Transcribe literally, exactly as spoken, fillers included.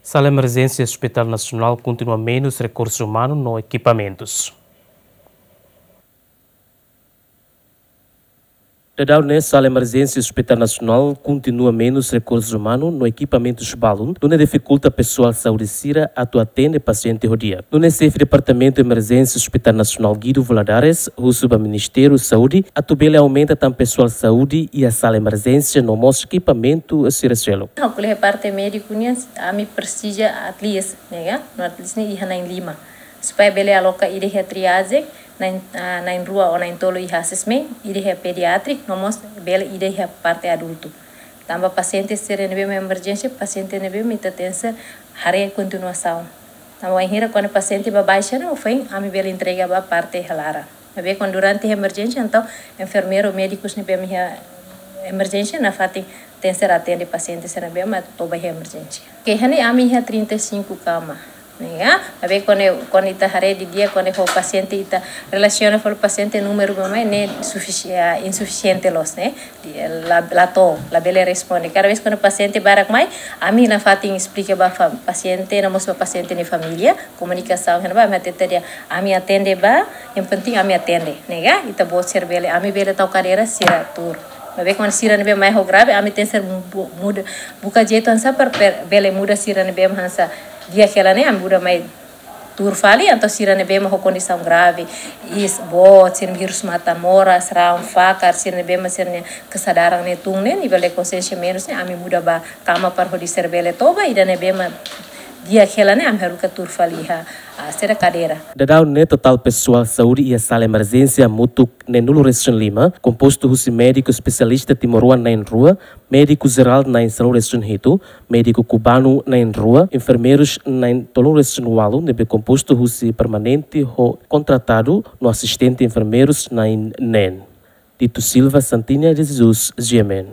Sala emerjénsia Hospital Nasionál kontinua menus rekursu umanu no ekipamentus. Daudaun ne'e sala emerjénsia Hospital Nasionál kontinua menus rekursu umanu no ekipamentus balun, nune'e difikulta pesoál saúde sira atu atende pasiente ho di'ak. Nune'e xefe Departamentu Emerjénsia Hospital Nasionál Guido Valadares husu ba Ministériu Saúde atu bele aumenta tan pesoál saúde iha sala emerjénsia no mós ekipamentu sira seluk. Ha'u ko'alia parte médiku nian, ami presiza at least, ne'e ka? No at least ne'e iha na'in lima. Supaya bele aloka ida iha triagem, na'in, ah, na'in rua ou na'in tolu iha assessment, ida iha pediatric, no mós bele ida iha parte adultu. Tanba pasiente sira ne'ebé mak emerjénsia, pasiente ne'ebé mak ita tenke haree kontinuasaun. Tanba wainhira kuandu pasiente baibain ona, ofoin ami bele entrega ba parte iha laran. Maibé kuandu durante emerjénsia, entaun enfermeiru, médikus ne'ebé mak iha emerjénsia nafatin tenke atende pasiente sira ne'ebé mak toba iha emerjénsia. Ke hani ami iha trinta e cinco kama. Ne'e ka? Maibé kuandu, kuandu ita haree didi'ak, kuandu ho pasiente ita relasiona fali pasiente númeru ba mai ne'e sufisi-, ah, insufisiente loos, ne'e? Di-, la, la to'o, labele responde. Kada vez kuandu pasiente barak mai, ami nafatin esplika ba fa-, pasiente, no mós ba pasiente nia família, komunikasaun iha ne'ebá, ami hatete dehan, ami atende ba, yang penting ami atende, ne'e ka? Ita-boot sira bele, ami bele tau kadeira sira tuur. Maibé kuandu sira ne'ebé mai ho grave, ami tenke mu-, muda, buka jeitu oinsá para per-, bele muda sira ne'ebé mak hanesan di'ak hela ne'e, ami muda mai tuur fali, entaun sira ne'ebé mak ho kondisaun grave, iis boot, sira-nia hirus matan moras, rahun fakar, sira ne'ebé mak sira-nia kesadaran ne'e tun ne'e, nivel de konsiénsia menus ne'e, ami muda ba kama para hodi sira bele toba, ida ne'ebé mak di'ak hela ne'e, ami haruka tuur fali iha, ah, sira kadeira. Daudaun ne'e totál pesoál saúde iha sala emerjénsia hamutuk neen-nulu resin lima, kompostu husi médiku espesialista timoroan na'in rua, médiku jerál na'in sanulu resin hitu, médiku kubanu na'in rua, enfermeirus na'in tolunulu resin ualu, ne'ebé kompostu husi permanente ho kontratadu no asistente enfermeirus na'in neen. Tito Silva, Santinia de Jesus, G M N.